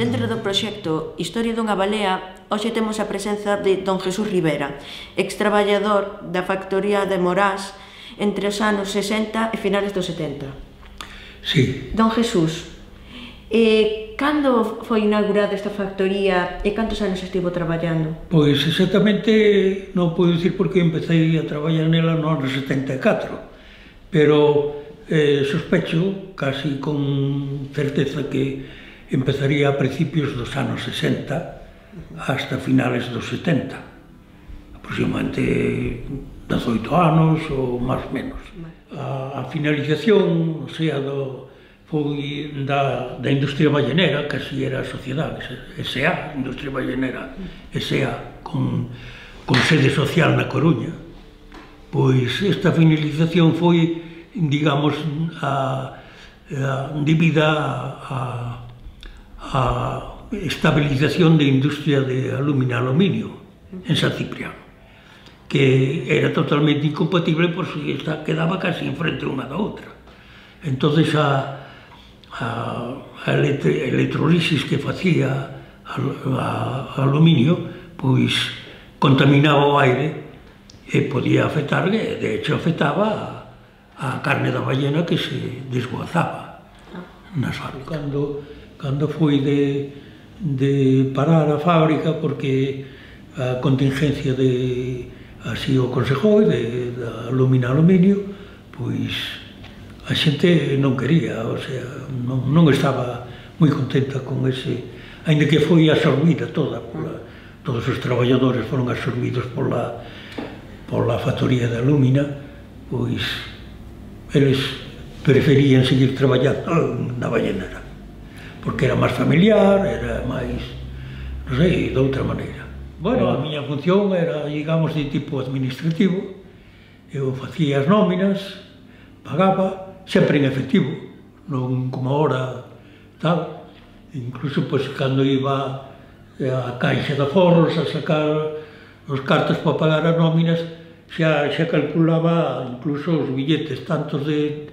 Dentro do proxecto Historia dunha balea, hoxe temos a presenza de don Jesús Rivera, ex-traballador da factoría de Morás entre os anos 60 e finales dos 70. Sí. Don Jesús, cando foi inaugurada esta factoría e cantos anos estivo traballando? Pois exactamente non podo dicir porque empecé a traballar nela no ano 74, pero sospecho, casi con certeza, que empezaría a principios dos anos 60 hasta finales dos 70, aproximadamente 18 anos ou máis ou menos. A finalización, o sea, foi da industria ballenera, que así era a sociedade, S.A., Industria Ballenera S.A., con sede social na Coruña. Pois esta finalización foi, digamos, debida a estabilización da industria de aluminio en San Cipriano, que era totalmente incompatible porque quedaba casi enfrente unha da outra. Entonces a electrolisis que facía aluminio pois contaminaba o aire e podía afectar, de hecho afectaba a carne da ballena que se desguazaba nas fábricas. Cando foi de parar a fábrica porque a contingencia así o aconsejou da aluminio, pois a xente non quería, o sea, non estaba moi contenta con ese, aínda que foi absorbida toda, todos os traballadores foron absorbidos pola factoría de alumina, pois eles preferían seguir traballando na ballenera, porque era máis familiar, era máis, non sei, de outra maneira. Bueno, a miña función era, digamos, de tipo administrativo, eu facía as nóminas, pagaba, sempre en efectivo, non como ahora, tal. Incluso, pois, cando iba a caixa de aforros a sacar os cartos para pagar as nóminas, xa calculaba incluso os billetes, tantos de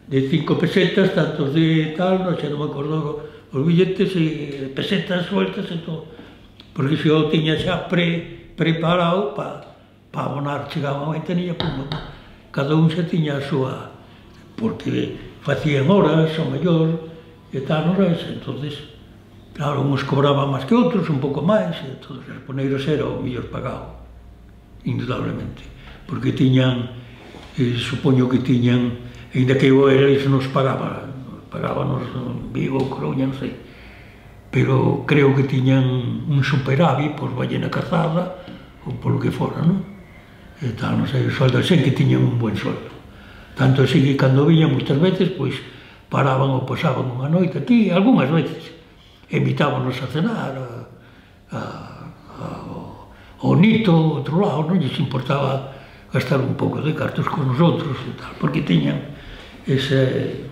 5 pesetas, tantos de tal, xa non me acordo os billetes e pesetas sueltas e todo, porque se eu tiña xa preparado para abonar, chegaba a ventanilla, cada un xa tiña a súa, porque facían horas, ao mellor, e tal, horas, entonces, claro, uns cobraban máis que outros, un pouco máis, e todos os poneiros era o mellor pagado, indudablemente, porque tiñan, supoño que tiñan, ainda que eles nos pagábanos en Vigo, Coruña, non sei, pero creo que tiñan un superávit por Ballena Cazada, ou polo que fora, non? E tal, non sei, o soldo, sei que tiñan un buen soldo. Tanto así que cando viñan moitas veces, pois, paraban ou pasaban unha noite aquí, algunhas veces, invitábanos a cenar, ao Nito, outro lado, non lles importaba gastar un pouco de cartos con nosotros e tal, porque tiñan ese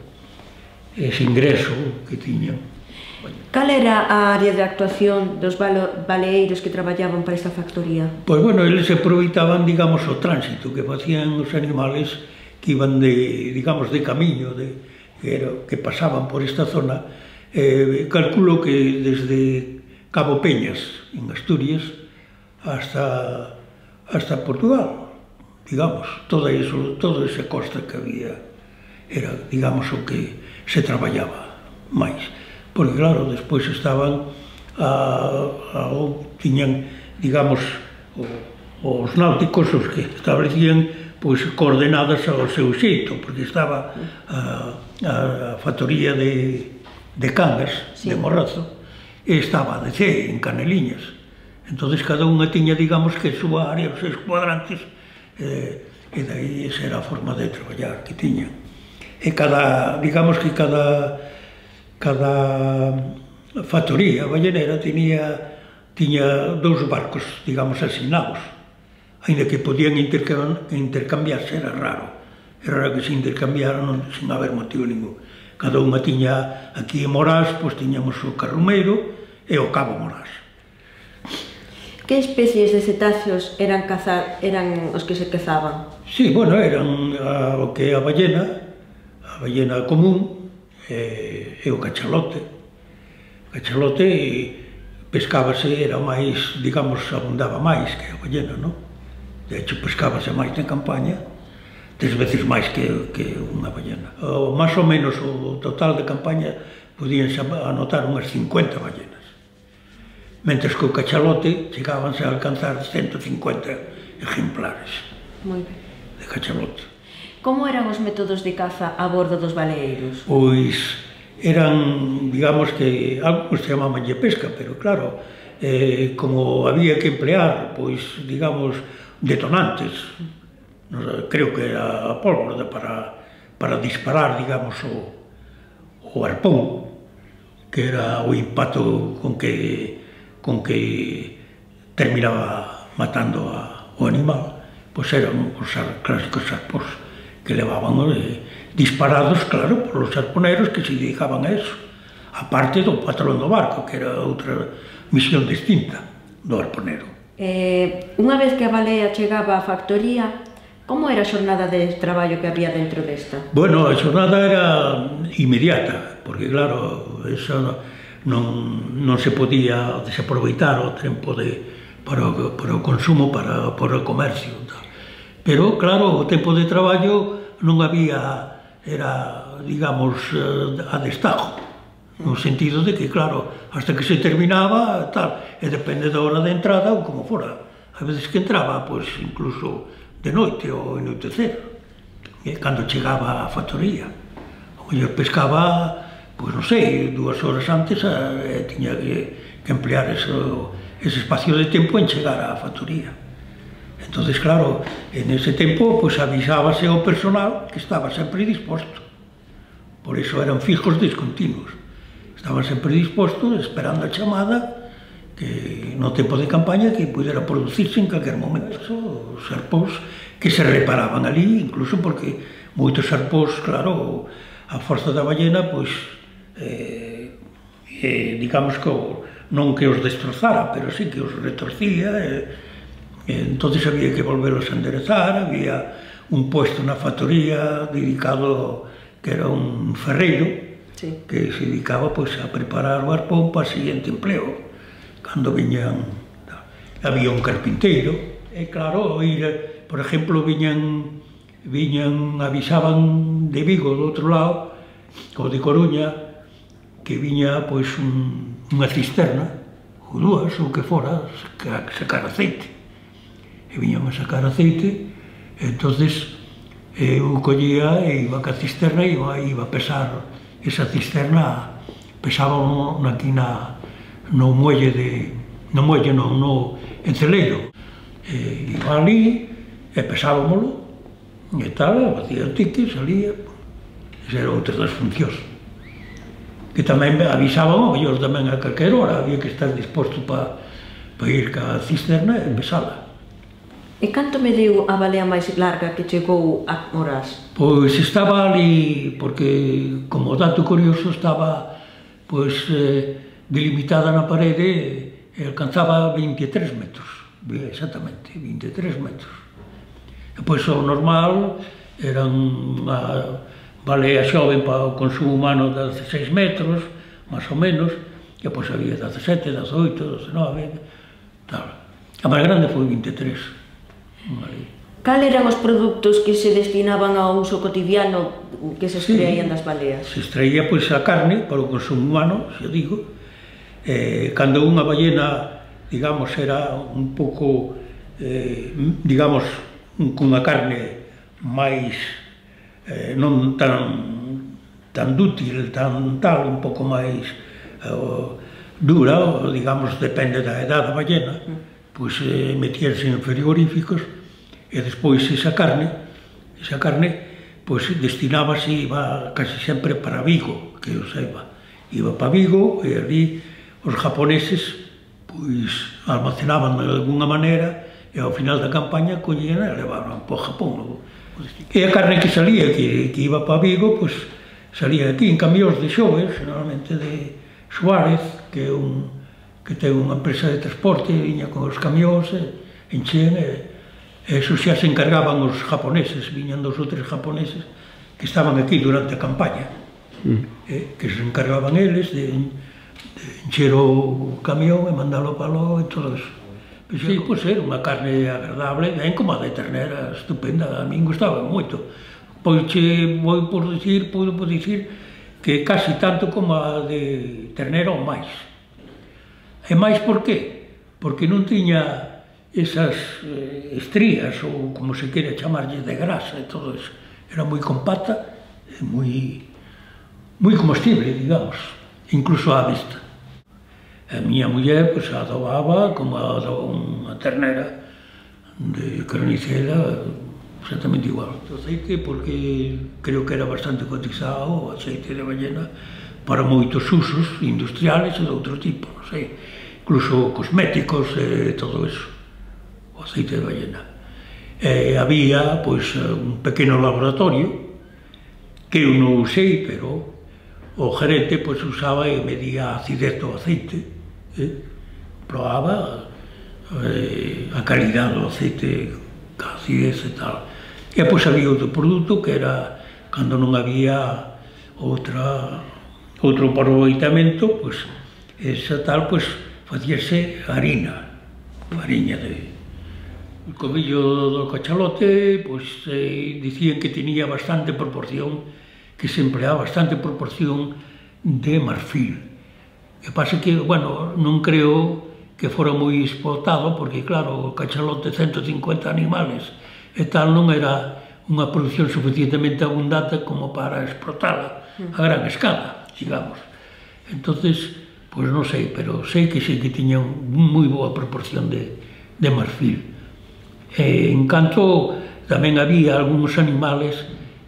ingreso que tiñan. Cal era a área de actuación dos baleeiros que traballaban para esta factoría? Pois, bueno, eles aproveitaban, digamos, o tránsito que facían os animales que iban digamos, de camiño, que pasaban por esta zona. Calculo que desde Cabo Peñas, en Asturias, hasta Portugal, digamos, toda esa costa que había, era, digamos, o que se traballaba máis. Porque, claro, despois estaban, tiñan, digamos, os náuticos, os que establecían, pois, coordenadas ao seu xeito, porque estaba a factoría de Cangas, de Morrazo, e estaba a DC, en Caneliñas. Entonces, cada unha tiña, digamos, que a súa área, os seus cuadrantes, e daí esa era a forma de traballar que tiñan. E digamos que cada factoría ballenera tiña dous barcos, digamos, asignados, ainda que podían intercambiarse, era raro que se intercambiaran sin haber motivo ningún. Cada unha tiña, aquí en Morás, pois tiñamos o Carrumeiro e o Cabo Morás. Que especies de cetáceos eran os que se cazaban? Sí, bueno, eran o que é a ballena común, e o cachalote, cachalote pescábase, era máis, digamos, abundaba máis que a ballena, non? De hecho, pescábase máis na campaña, 3 veces máis que unha ballena. Más ou menos o total de campaña podíanse anotar unhas 50 ballenas. Mentres que o cachalote chegábanse a alcanzar 150 ejemplares de cachalote. Como eran os métodos de caza a bordo dos baleeiros? Pois eran, digamos que, algo se chamabanlle pesca, pero claro, como había que emplear, pois, digamos, detonantes, creo que era a pólvora para disparar, digamos, o arpón, que era o impacto con que terminaba matando o animal, pois eran os clásicos arpóns que levaban disparados, claro, por os arponeros que se dedicaban a eso, aparte do patrón do barco, que era outra misión distinta do arponero. Unha vez que a balea chegaba á factoría, como era a xornada de traballo que había dentro desta? Bueno, a xornada era inmediata, porque claro, eso non se podía desaproveitar o tempo para o consumo, para o comercio. Pero claro, o tempo de traballo non había, era, digamos, a destajo, no sentido de que, claro, hasta que se terminaba, tal, e depende da hora de entrada ou como fora. A veces que entraba, pois, incluso de noite ou anoitecer, cando chegaba á factoría. O mellor pescaba, pois non sei, 2 horas antes, tiña que emplear ese espacio de tempo en chegar á factoría. Entonces, claro, en ese tempo, pois avisábase ao personal que estaba sempre disposto. Por iso eran fijos discontinuos. Estaban sempre dispostos, esperando a chamada, que no tempo de campaña que pudera producirse en calquer momento. Os arpóns que se reparaban ali, incluso porque moitos arpóns, claro, a forza da ballena, pois, digamos que non que os destrozara, pero sí que os retorcía, entonces había que volverlos a enderezar, había un puesto na factoría dedicado, que era un ferreiro, que se dedicaba pois a preparar o arpón para o seguinte empleo. Cando viñan, había un carpinteiro, e claro, por exemplo, avisaban de Vigo, do outro lado, ou de Coruña, que viña pois unha cisterna, ou 2, ou que fora, sacar aceite. E viñan a sacar aceite, e entonces eu collía e iba ca cisterna e iba a pesar esa cisterna, pesaba aquí no enceleiro. Iba ali e pesábamolo e tal, facía o tique, salía. Esa era outra das funcións. Que tamén avisaban, mellor tamén a calquer hora, había que estar disposto para ir ca cisterna e pesala. E canto mediu a balea máis larga que chegou a Morás? Pois estaba ali, porque como dato curioso estaba pois delimitada na parede e alcanzaba 23 metros, exactamente, 23 metros. E pois o normal era unha balea xoven para o consumo humano de 16 metros, máis ou menos, e pois había 17, 18, 19, tal. A máis grande foi 23. Cal eran os produtos que se destinaban ao uso cotidiano que se extraían das baleas? Se extraía pois a carne para o consumo humano, xa digo. Cando unha ballena, digamos, era un pouco, digamos, cunha carne máis non tan dútil, tan tal, un pouco máis dura, digamos, depende da edad da ballena, pois metíanse en frigoríficos e despois esa carne pois destinábase, iba casi sempre para Vigo, que eu saiba, iba para Vigo e ali os japoneses pois almacenaban de alguna maneira e ao final da campaña collían e levaban para o Japón. E a carne que salía, que iba para Vigo, pois salía aquí en camións de xoves, normalmente de Suárez, que ten unha empresa de transporte, viña con os camións, enchían, e eso xa se encargaban os japoneses, viñan 2 ou 3 japoneses que estaban aquí durante a campaña, que se encargaban eles de encher o camión e mandalo para lo e todo eso. Sí, pois era unha carne agradable, ben como a de ternera, estupenda, a min gustaba moito. Pois podo dicir que casi tanto como a de ternera ou máis. E máis por qué? Porque non tiña esas estrías, ou como se quere chamarlle, de grasa e todo eso. Era moi compacta e moi comestible, digamos, incluso á vista. A miña muller pois adobaba como adoba unha ternera de carnicera, exactamente igual. O aceite, porque creo que era bastante cotizado, o aceite de ballena, para moitos usos industriales e de outro tipo, non sei, incluso cosméticos e todo eso, o aceite de ballena. Había, pois, un pequeno laboratorio, que eu non usei, pero o gerente, pois, usaba e medía a acidez do aceite, probaba a calidad do aceite, a acidez e tal. E pois había outro produto que era, cando non había outro aproveitamento, pois esa tal, pois facíase harina, fariña de... O cobillo do cachalote, pois dicían que tenía bastante proporción, que se empleaba bastante proporción de marfil. O que pasa que, bueno, non creo que fora moi exportado, porque, claro, o cachalote 150 animales e tal non era unha produción suficientemente abundante como para exportala a gran escala, digamos. Entonces, pois non sei, pero sei que sí que tiña moi boa proporción de marfil. En canto, tamén había algúns animales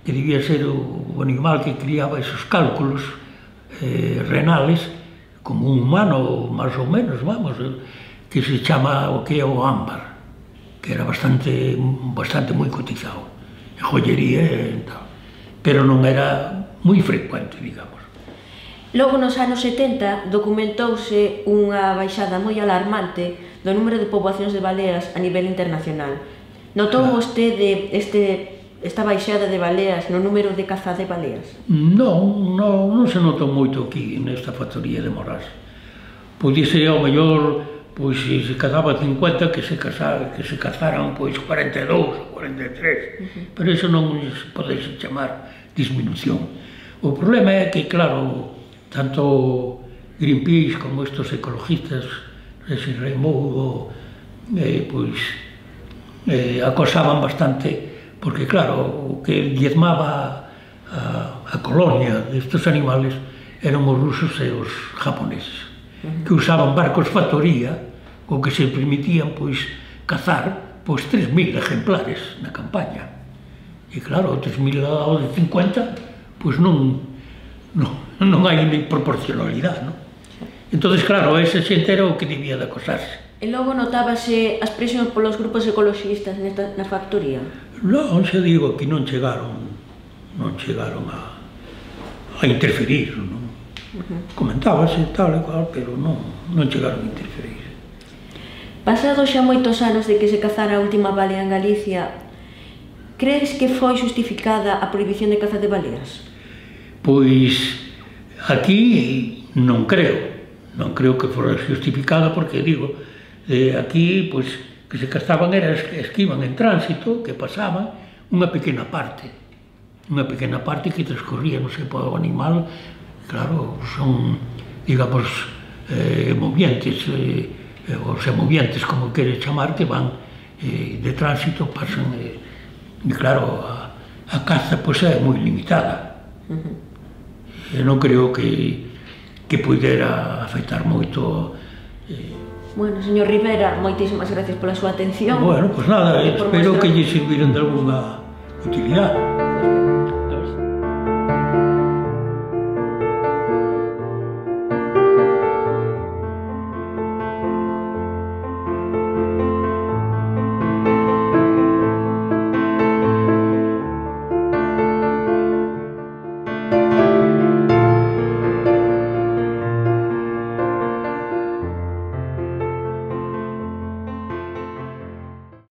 que debía ser o animal que criaba esos cálculos renales, como un humano, máis ou menos, vamos, que se chama o que é o ámbar, que era bastante moi cotizado, e joyería e tal, pero non era moi frecuente, digamos. Logo, nos anos 70, documentouse unha baixada moi alarmante do número de poboacións de baleas a nivel internacional. Notou vostede esta baixada de baleas no número de caza de baleas? Non se notou moito aquí nesta factoría de Morás. Podíase ao mellor, pois se cazaba 50, que se cazaran pois 42 ou 43, pero iso non se pode chamar disminución. O problema é que, claro, tanto Greenpeace como estos ecologistas, ese Raimundo, pois acosaban bastante, porque claro, o que diezmaba a colonia destes animales eran os rusos e os japoneses, que usaban barcos factoría, o que se permitían pois cazar pois 3.000 ejemplares na campaña. E claro, 3.000 ao de 50, pois non hai nem proporcionalidade, non? Entón, claro, esa xente era o que debía de acosarse. E logo notábase as presións polos grupos ecologistas na factoría? Non, xa digo que non chegaron a interferir, non? Comentábase tal e cual, pero non chegaron a interferir. Pasados xa moitos anos de que se cazara a última balea en Galicia, crees que foi justificada a prohibición de caza de baleas? Pois aquí non creo que fora justificada, porque digo, aquí, pois, que se cazaban era as que iban en tránsito, que pasaban unha pequena parte que transcorría, non sei, polo animal, claro, son, digamos, movientes, os semovientes, como quere chamar, que van de tránsito, pasan, e claro, a caza, pois, é moi limitada. Non creo que pudera afectar moito. Bueno, señor Rivera, moitísimas gracias pola súa atención. Bueno, pois nada, espero que lle sirviran de alguna utilidade.